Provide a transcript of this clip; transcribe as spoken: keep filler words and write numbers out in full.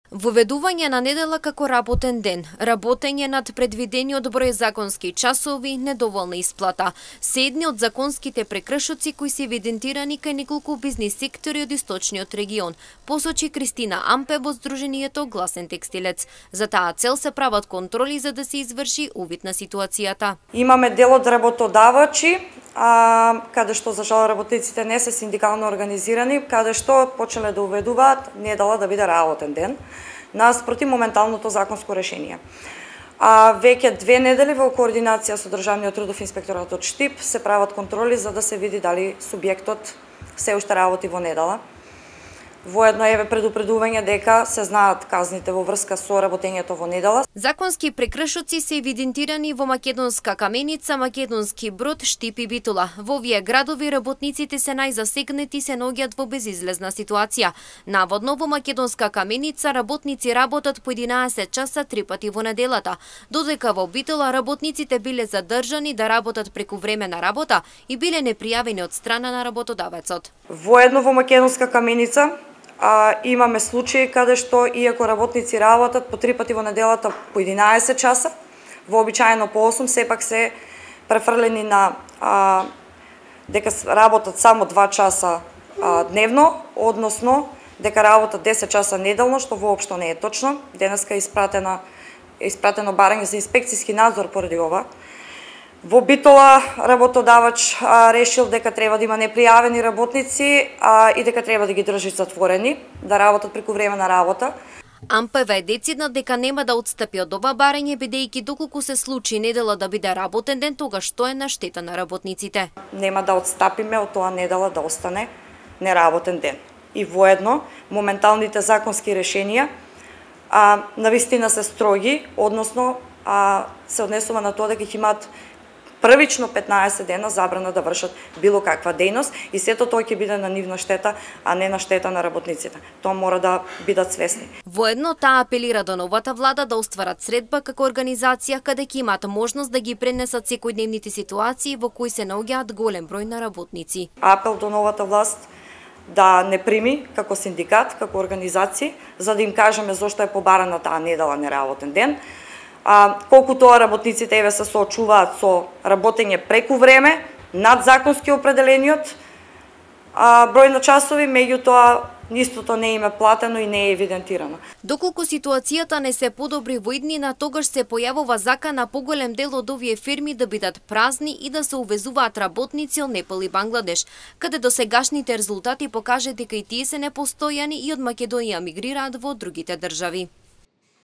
Воведување на недела како работен ден, работење над предвидениот број законски часови, недоволна исплата, се едни од законските прекршоци кои се евидентирани кај неколку бизнис сектори од источниот регион, посочи Кристина Ампе во Сдруженијето Гласен текстилец. За таа цел се прават контроли за да се изврши увид на ситуацијата. Имаме дел од работодавачи, а, каде што за жал работниците не се синдикално организирани, каде што почнале да уведуваат недела да биде работен ден, наспроти моменталното законско решение. А веќе две недели во координација со Државниот трудов инспекторат од Штип се прават контроли за да се види дали субјектот се уште работи во недела. Воедно еве предупредување дека се знаат казните во врска со работењето во недела. Законски прекршоци се евидентирани во Македонска Каменица, Македонски Брод, Штип и Битола. Во овие градови работниците се најзасегнати и се наоѓаат во безизлезна ситуација. Наводно во Македонска Каменица работници работат по единаесет часа три пати во неделата, додека во Битола работниците биле задржани да работат преку време на работа и биле непријавени од страна на работодавецот. Воедно во Македонска Каменица А, имаме случаи каде што иако работници работат по три пати во неделата по единаесет часа, вообичаено по осум, сепак се префрлени на а, дека работат само два часа а, дневно, односно дека работат десет часа неделно, што воопшто не е точно. Денеска е испратена испратено барање за инспекцијски надзор поради ова. Во Битола работодавач а, решил дека треба да има непријавени работници а, и дека треба да ги држи затворени, да работат преку време на работа. Ампева е децидна дека нема да отстапи од ова барање, бидејќи доколку се случи недела да биде работен ден, тогаш што е на штета на работниците. Нема да отстапиме од тоа недела да остане неработен ден. И воедно, моменталните законски решенија а, навистина се строги, односно а, се однесува на тоа дека ќе имаат првично петнаесет дена забрана да вршат било каква дејност и сето тоа ќе биде на нивна штета, а не на штета на работниците. Тоа мора да бидат свесни. Воедно таа апелира до новата влада да остварат средба како организација каде ќе имаат можност да ги пренесат секојдневните ситуации во кои се наоѓаат голем број на работници. Апел до новата власт да не прими како синдикат, како организација, за да им кажеме зошто е побарана таа недела неработен ден. А, колку тоа работниците еве се соочуваат со работење преку време, над законски определениот а, број на часови, меѓутоа истото не им е платено и не е евидентирано. Доколку ситуацијата не се подобри во иднина, тогаш се појавува закана поголем дел од овие фирми да бидат празни и да се увезуваат работници од Непал и Бангладеш, каде досегашните резултати покажа дека и тие се непостојани и од Македонија мигрираат во другите држави.